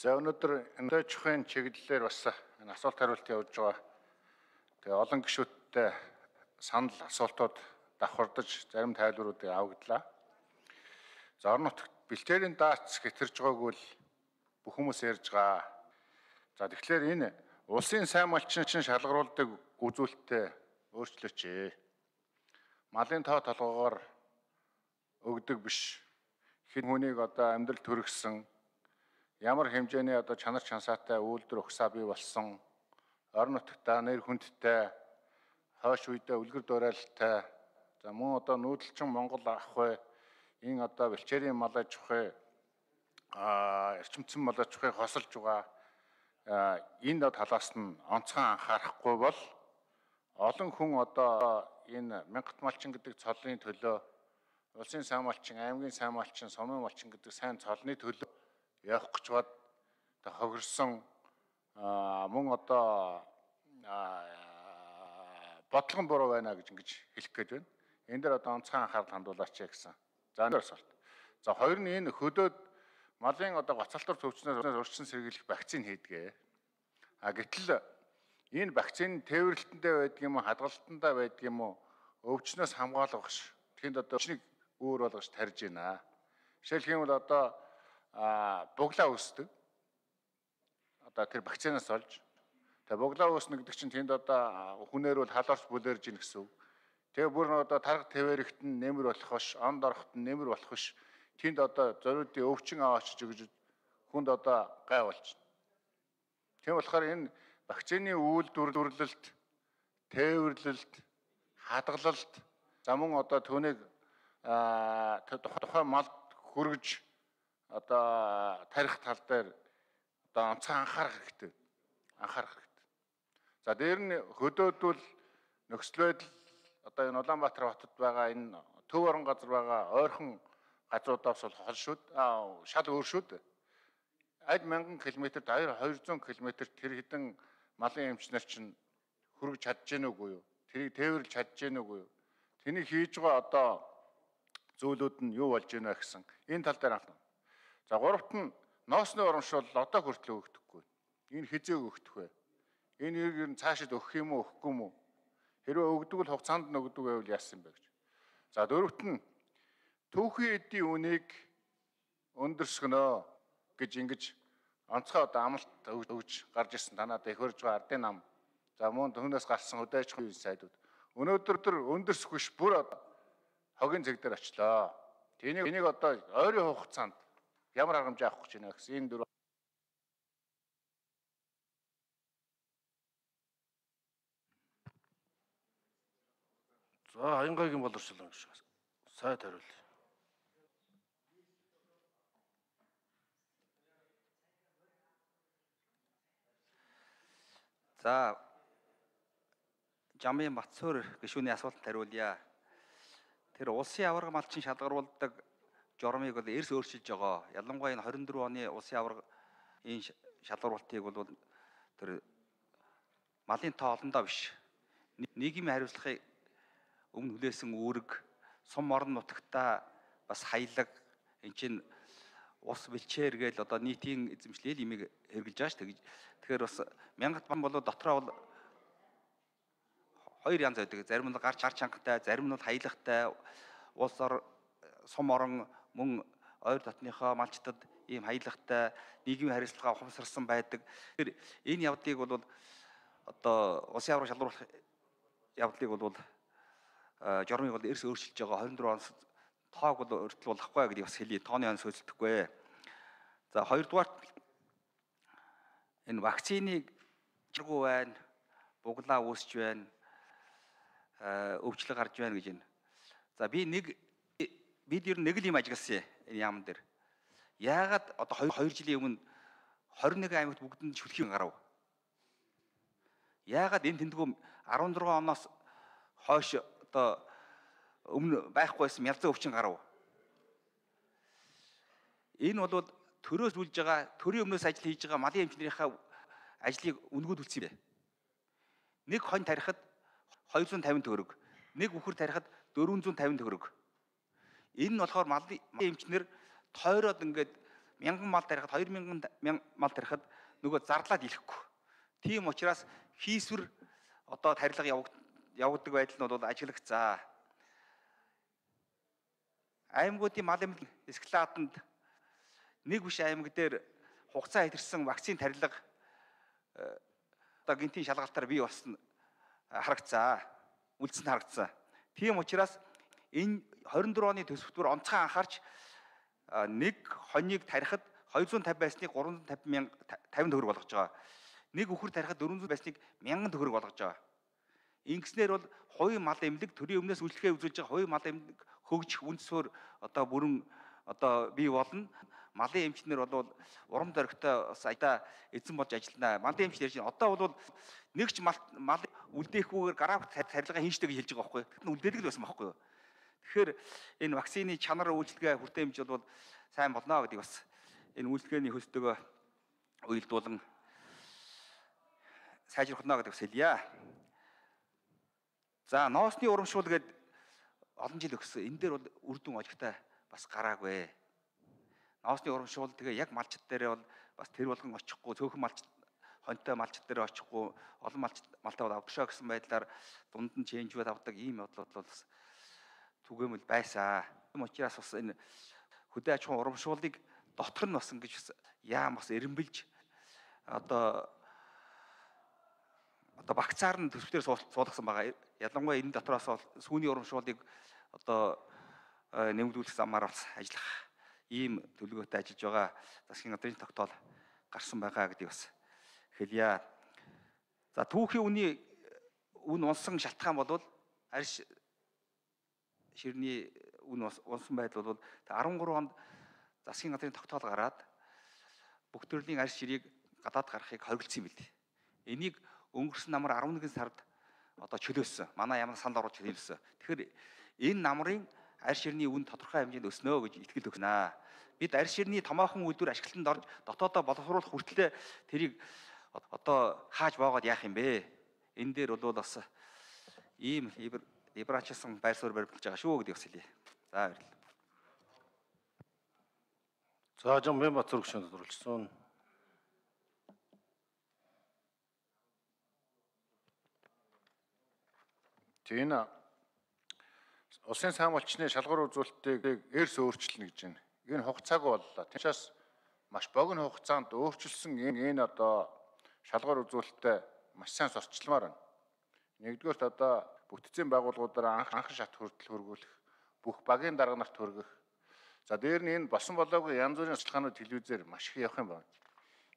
За өнөөдөр энэ чухын чиглэлээр бас энэ асуулт хариулт явуулж байгаа. Тэгээ олон гишүүдтэй санал асуултууд давхардаж зарим тайлбаруудыг авагдлаа. За орон нутагт бэлчээрийн даатц хэтэрж байгааг бол бүх хүмүүс ярьж байгаа. За тэгэхээр энэ улсын сайн малчин шалгаруулдаг үзүүлэлтээ өөрчлөөч. Малын тоо толгоогоор өгдөг биш. Хэн хүнийг одоо амьдрал төрөгсөн ямар хэмжээний одоо чанар чансаатай үйлдвэр ухсаа бий болсон орон нутагтаа нэр хүндтэй хойш үедээ үлгэр дуурайлалтай за мөн одоо нүүдэлчин Монгол ах бай энэ одоо бэлчээрийн мал аж ахуй эрчимцэн мал аж ахуйг хосолж байгаа энэ талаас нь онцгой анхаарахгүй бол олон хүн одоо энэ мянгат малчин гэдэг цоллын төлөө улсын сайн малчин, аймгийн сайн малчин, сумын малчин гэдэг сайн цолны төлөө явах гэж бод хохирсон мөн одоо бодлогон буруу байна гэж ингэж хэлэх гээд байна. Энэ дээр одоо онцгой анхаарал хандуулаач гэсэн. За энэ асуулт. За хоёр нь энэ хөдөөд малын одоо гоцалтор төвчнөөс урьдчилан сэргийлэх вакцин хийдгээ. Гэтэл энэ вакцин тээвэрлэлтэндээ байдаг юм уу, хадгалтандаа байдаг юм уу, өвчнөөс хамгаалгах тэнд одоо өвчнийг өөр болгож тарьж байна. Жишээлх юм бол одоо буглаа үүсдэг. Одоо тэр вакцинаас олж. Тэгээ буглаа үүснэ гэдэг чинь тэнд одоо хүнээр бол халуурч бүлэрж ийн гэсэн үг. Тэгээ бүр нь одоо тарга твэрэгт нь нэмэр болох биш, онд орохт нь нэмэр болох биш. Тэнд одоо зориудын өвчин аваачж өгж хүнд одоо гай болж. Тийм болохоор энэ вакцины үйлдвэрлэлт, тээвэрлэлт, хадгалалт за мөн одоо түүнийг тухайн малд хүргэж одоо тарих тал дээр одоо онцгой анхаарах хэрэгтэй. За дээр нь хөдөөд бол нөхцөл байдал одоо энэ Улаанбаатар хотод байгаа энэ төв орон газар байгаа ойрхон газруудаас бол хол шүүд шал өөр шүүд. Аль 1000 км-т 200 км-т тэр хэдэн малын эмчнэр чинь хүргэж чадж гэнэ үгүй юу? Тэрийг тээвэрлж чадж гэнэ үгүй юу? Тэнийг хийж байгаа одоо зүйлүүд нь юу болж гэнэ гэсэн энэ тал дээр анхаарах. За гуравт нь ноосны урамшуул одоо хүртэл өгдөггүй. Энэ хизээ өгдөх вэ? Энэ ер нь цаашид өгөх юм уу, өгөхгүй юм уу? Хэрвээ өгдөг бол хугацаанд нь өгдөг байвал яасан бэ гэж. За дөрөвт нь түүхийн эдийн үнийг өндөрсгөнөө гэж ингэж онцгой одоо амлалт өгж гарч ирсэн танаад их хөрж байгаа ардын нам. За мөн түүнээс гарсан хөдөө аж ахуйн сайдууд. Өнөөдөр өндөрсөх биш бүр хогийн зэг дээр очлоо. Тэнийг одоо ойрын хугацаанд ямар аргамжаа авах гэж байна гэсэн энэ дөрөв. За Аянгайгийн боловсролын гишүүн сайд хариулъя. За Жамын Батцуур гишүүний асуултанд хариулъя. Тэр улсын аварга малчин шалгаруулдаг жормыг бол эрс өөрчилж байгаа. Ялангуяа энэ 24 оны улсын аварга энэ шалгаруултыг бол тэр малын тоо олондоо биш. Нийгмийн хариуцлагыг өмнө хүлээсэн үүрэг, сум орон нутагтаа бас хаялаг эн чинь ус бэлчээр гээл одоо нийтийн эзэмшлэл имийг хэрэгжилж байгаа шүү дээ. Тэгэхээр бас мянгат бам болоо дотроо бол хоёр янз байдаг. Зарим нь гарч чангатай, зарим нь хаялагтай, улс ор сум орон мөн ойр дотныхоо малчтад ийм хаялагтай нийгмийн хариуцлагаа ухамсарсан байдаг. Тэгэхээр энэ явдлыг бол одоо улсын аварга шалгаруулах явдлыг бол жормыг бол эрс өөрчилж байгаа 24 оноос тоог бол өртөл болохгүй гэдгийг бас хэлье. Тооны онс сөөлдөхгүй. За хоёрдугаар энэ вакциныг чиргүү байна, буглаа үүсч байна, өвчлөг гарч байна гэж байна. За бид ер нь нэг л юм ажигласан энэ яамн дээр. Яагаад одоо 2 жилийн өмнө 21 аймагт бүгдэнд шүлхийг гарав? Яагаад энэ тэмдгүү 16 оноос хойш одоо өмнө байхгүйсэн мялзан өвчин гарав? Энэ бол төрөөс үлж байгаа, төрийн өмнөөс ажил хийж байгаа малын эмчнэрийнхээ ажлыг үнгүүд үлдсэн юм. Нэг хонь тарихад 250 төгрөг, нэг үхэр тарихад 450 төгрөг. Энэ нь болохоор малын эмчнэр тойроод ингээд 1000 мал тарихад 2000 мал тарихад нөгөө зарлаад илэхгүй. Тийм учраас хийсвэр одоо тарилга явагддаг байдал нь бол ажиглагцаа. Аймагуудын мал эмнэлэг эскалаатанд нэг биш аймаг дээр хугацаа хэтэрсэн вакцины тарилга одоо гинтийн шалгалтаар бий болсон харагцаа. Үлдсэн харагцсан. Тийм учраас энэ 24 оны төсөвтөр онцгой анхаарч нэг хоньыг тарихад 250 байсныг 350 төгрөг болгож байгаа. Нэг үхэр тарихад 400 байсныг 1000 төгрөг болгож байгаа. Ингэснээр бол хувийн мал эмнэлэг төрийн өмнөөс үйлчлэгээ үзүүлж байгаа хувийн мал эмнэлэг хөгжих үндсөөр одоо бүрэн одоо бий болно. Малын эмчнэр бол урам зоригтой бас аяда эзэн болж ажиллана. Малын эмч ярьж байна. Одоо бол нэгч мал үлдээхгүйгээр график тарилга хийждэг гэж хэлж байгаа байхгүй юу? Үлдээдэг л байсан байхгүй юу? Тэгэхээр энэ вакцины чанар үйлчлэгээ хүртээмж бол сайн болно гэдгийг бас энэ үйлчлэгээний хөсдөгөө уялдуулан сайжруулах нь гэдэг бас хэлье. За ноосны урамшуул гээд олон жил өгсөн. Энэ дээр бол үр дүн олигтой бас гараагүй. Ноосны урамшуул тэгээ яг малчд дээр бол бас тэр болгон очихгүй, цөөхөн малчд хоньтой малчд дээр очихгүй, олон малтай авдагшаа гэсэн байдлаар дунд нь ченжүүд авдаг ийм бодлол бол бас түгээмэл байсан. Юм учраас бас энэ хөдөө аж ахуйн урамшууллыг дотор нь бас ингэж яам бас эренбэлж одоо багцаар нь төсвтээр суулгасан байгаа. Ялангуяа энэ дотроос сүүний урамшууллыг одоо нэмэгдүүлэх замаар бас ажиллах ийм төлөвлөгөөтэй ажиллаж байгаа засгийн газрын тогтоол гарсан байгаа гэдгийг бас хэлье. За түүхийн үн унсан шалтгаан бол арьс ширний үн унсан байдал бол 13 онд засгийн газрын тогтоол гараад бүх төрлийн арьс ширийг гадаад гаргахыг хориглосон юм билээ. Энийг өнгөрсөн намар 11 сард одоо чөлөөсөн. Манай ямар санал оруулж хэлсэн. Тэгэхээр энэ намрын арьс ширний үн тодорхой хэмжээнд өснө гэж итгэл өгнө. Бид арьс ширний томоохон үйлдвэр ашиглалтанд орж дотоодоо боловсруулах хүртлээр тэрийг одоо хааж боогод яах юм бэ? Энэ дээр бол бас ийм либералчилсан байр суурь баримталж байгаа шүү гэдгийг бас хэлье. За баярлалаа. За жам Баймбат зурагчид төрүүлсэн. Энэ улсын сайн малчны шалгуур үзүүлэлтийг эрс өөрчилнө гэж байна. Энэ хугацааг боллоо. Тиймээс маш богино хугацаанд өөрчилсөн энэ одоо шалгуур үзүүлэлтээ маш сайн сурчилмаар байна. Нэгдүгээрт одоо бүтцийн байгууллагуудаараа анхан шат хүртэл хөргүүлэх, бүх багийн дарга нарт хөргөх. За дээр нь энэ болсон болоогүй янз бүрийн судалгаанууд телевизээр маш их явах юм байна.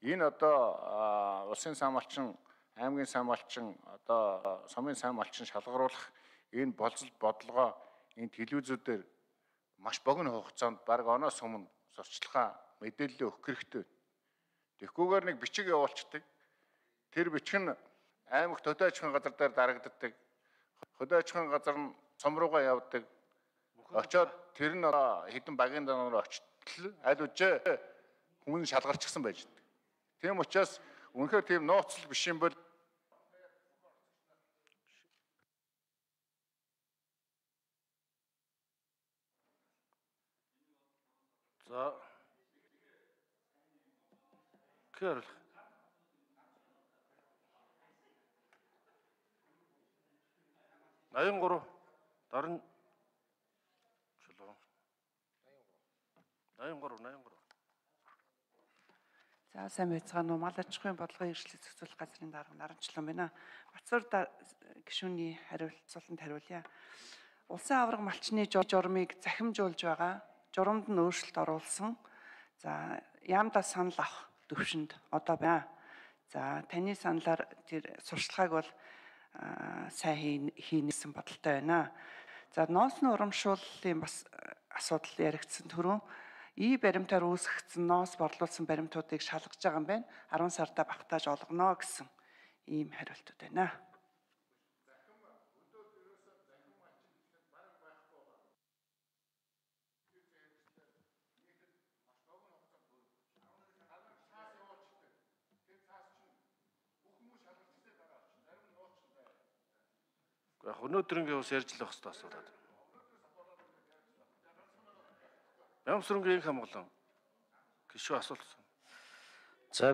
Энэ одоо улсын сайн малчин, аймгийн сайн малчин, одоо сумын сайн малчин шалгаруулах энэ болцол бодлогоо энэ телевизүүдээр маш богино хугацаанд бараг оноос өмнө сурчлагаа мэдээлэл өгөх хэрэгтэй. Тэгэхгүйгээр нэг бичиг явуулцдаг. Тэр бичиг нь аймагт хөдөө аж ахуйн газар дээр дарагддаг. Хөдөө аж ахуйн газар нь сум руугаа явдаг. Очоод тэр нь хэдэн багийн данаар очтол аль үжээ хүмүүс шалгарчихсан байж байгаа. Тийм учраас үнэхээр тийм нууцлал биш юм бол за кэр 83 дарн чулуу 83. За сайн байцгаана уу. Мал аж ахуйн бодлогын эрхлэлт зохицуулах газрын дарга Наранчлан байна. Батцуур гишүүний хариулцуултанд хариулъя. Улсын аварга малчны журмыг захимжуулж байгаа. Журамд нь өөрчлөлт оруулсан. За яамдаа санал авах төвшөнд одоо байна. За таны саналаар тэр сурчлагыг бол сайн хийнэсэн бодолтой байна. За ноосны урамшууллын бас асуудал яригдсан түрүү. Баримтаар үүсгэгдсэн ноос борлуулсан баримтуудыг шалгаж байгаа юм байна. 10 сарда багтааж олгоно гэсэн ийм хариултууд байна. Өнөөдрийн бас ярьж л байх хэрэгтэй асуудал. Ямсрынгийн хамглан Гишүүн асуулт.